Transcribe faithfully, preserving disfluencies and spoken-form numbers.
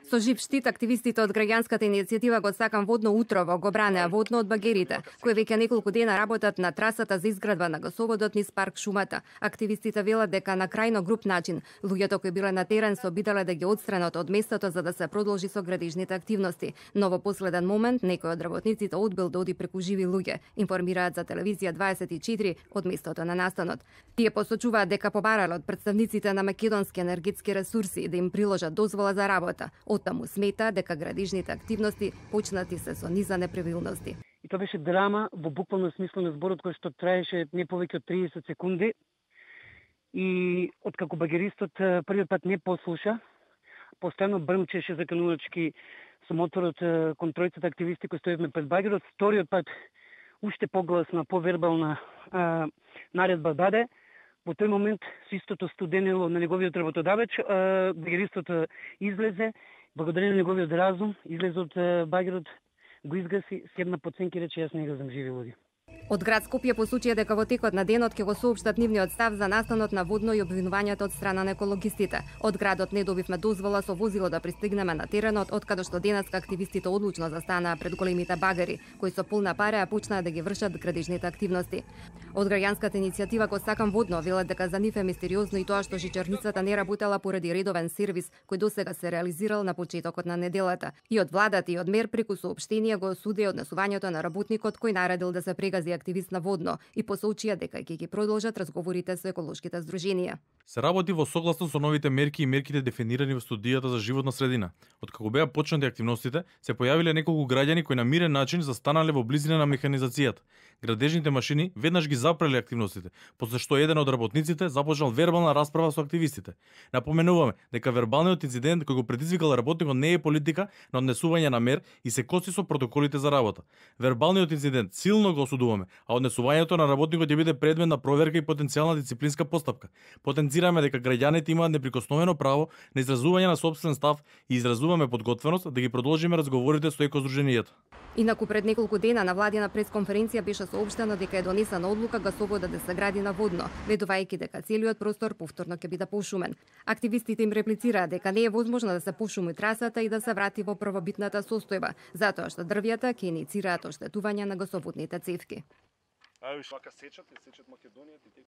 Со жив штит, активистите од граѓанската иницијатива го Сакам водно утрово го бранеа водно од багерите, кои веќе неколку дена работат на трасата за изградба на гасоводот низ парк Шумата. Активистите велат дека на крајно груп начин луѓето кои биле на терен се обидале да ги отстранат од местото за да се продолжи со градежните активности. Но во последен момент некој од работниците одбил да оди преку живи луѓе, информираат за телевизија дваесет и четири од местото на настанот. Тие посочуваат дека побарале од представниците на македонски енергетски ресурси да им приложат дозвола за работа. Оттаму смета дека градежните активности почнати се со низа неправилности. И тоа беше драма во буквално смисло на зборот кој што траеше не повеќе од триесет секунди. И откако багеристот првиот пат не послуша, постојано брмчеше заканувачки со моторот кон тројцата активисти кои стоевме пред багерот, вториот пат уште погласно, повербална а, наредба даде. Во тој момент со истото студенило на неговиот работодавач, багеристот излезе, благодарение на неговиот разум, излезе од багерот, го изгаси, седна под сенки и рече јас не газам живи луѓе. Од град Скопје посочија дека во текот на денот ќе го соопштат нивниот став за настанот на водно и обвинувањата од страна на екологистите. Од градот не добивме дозвола со возило да пристигнеме на теренот, откаде што денеска активистите одлучно застанаа пред големите багери, кои со полна пареа почнаа да ги вршат градежните активности. Од граѓанската иницијатива го Сакам водно велат дека за нив е мистериозно и тоа што жичарницата не работела поради редовен сервис кој досега се реализирал на почетокот на неделата. И од владата и од МЕР преку соопштение го осуди однесувањето на работникот кој наредил да се прегази активист на водно и посочија дека ќе ги продолжат разговорите со еколошките здруженија. Се работи во согласно со новите мерки и мерките дефинирани во студијата за животна средина. Откако беа почнати активностите, се појавиле неколку граѓани кои на мирен начин застанале во близина на механизацијата. Градежните машини веднаш ги запреле активностите, после што еден од работниците започнал вербална расправа со активистите. Напоменуваме дека вербалниот инцидент кој го предизвикал работникот не е политика на однесување на мер и се коси со протоколите за работа. Вербалниот инцидент силно го осудуваме, а однесувањето на работникот ќе биде предмет на проверка и потенцијална дисциплинска постапка. Потенцираме дека граѓаните имаат неприкосновено право на изразување на сопствен став и изразуваме подготвеност да ги продолжиме разговорите со екоздруженијата. Инаку пред неколку дена на владина пресконференција беше соопштено дека е донесена одлука гасоводот да се гради на водно, ведувајќи дека целиот простор повторно ќе биде пошумен. Активистите им реплицираа дека не е возможно да се пошуми трасата и да се врати во првобитната состојба, затоа што дрвјата ќе иницираат оштетување на гасоводните цевки.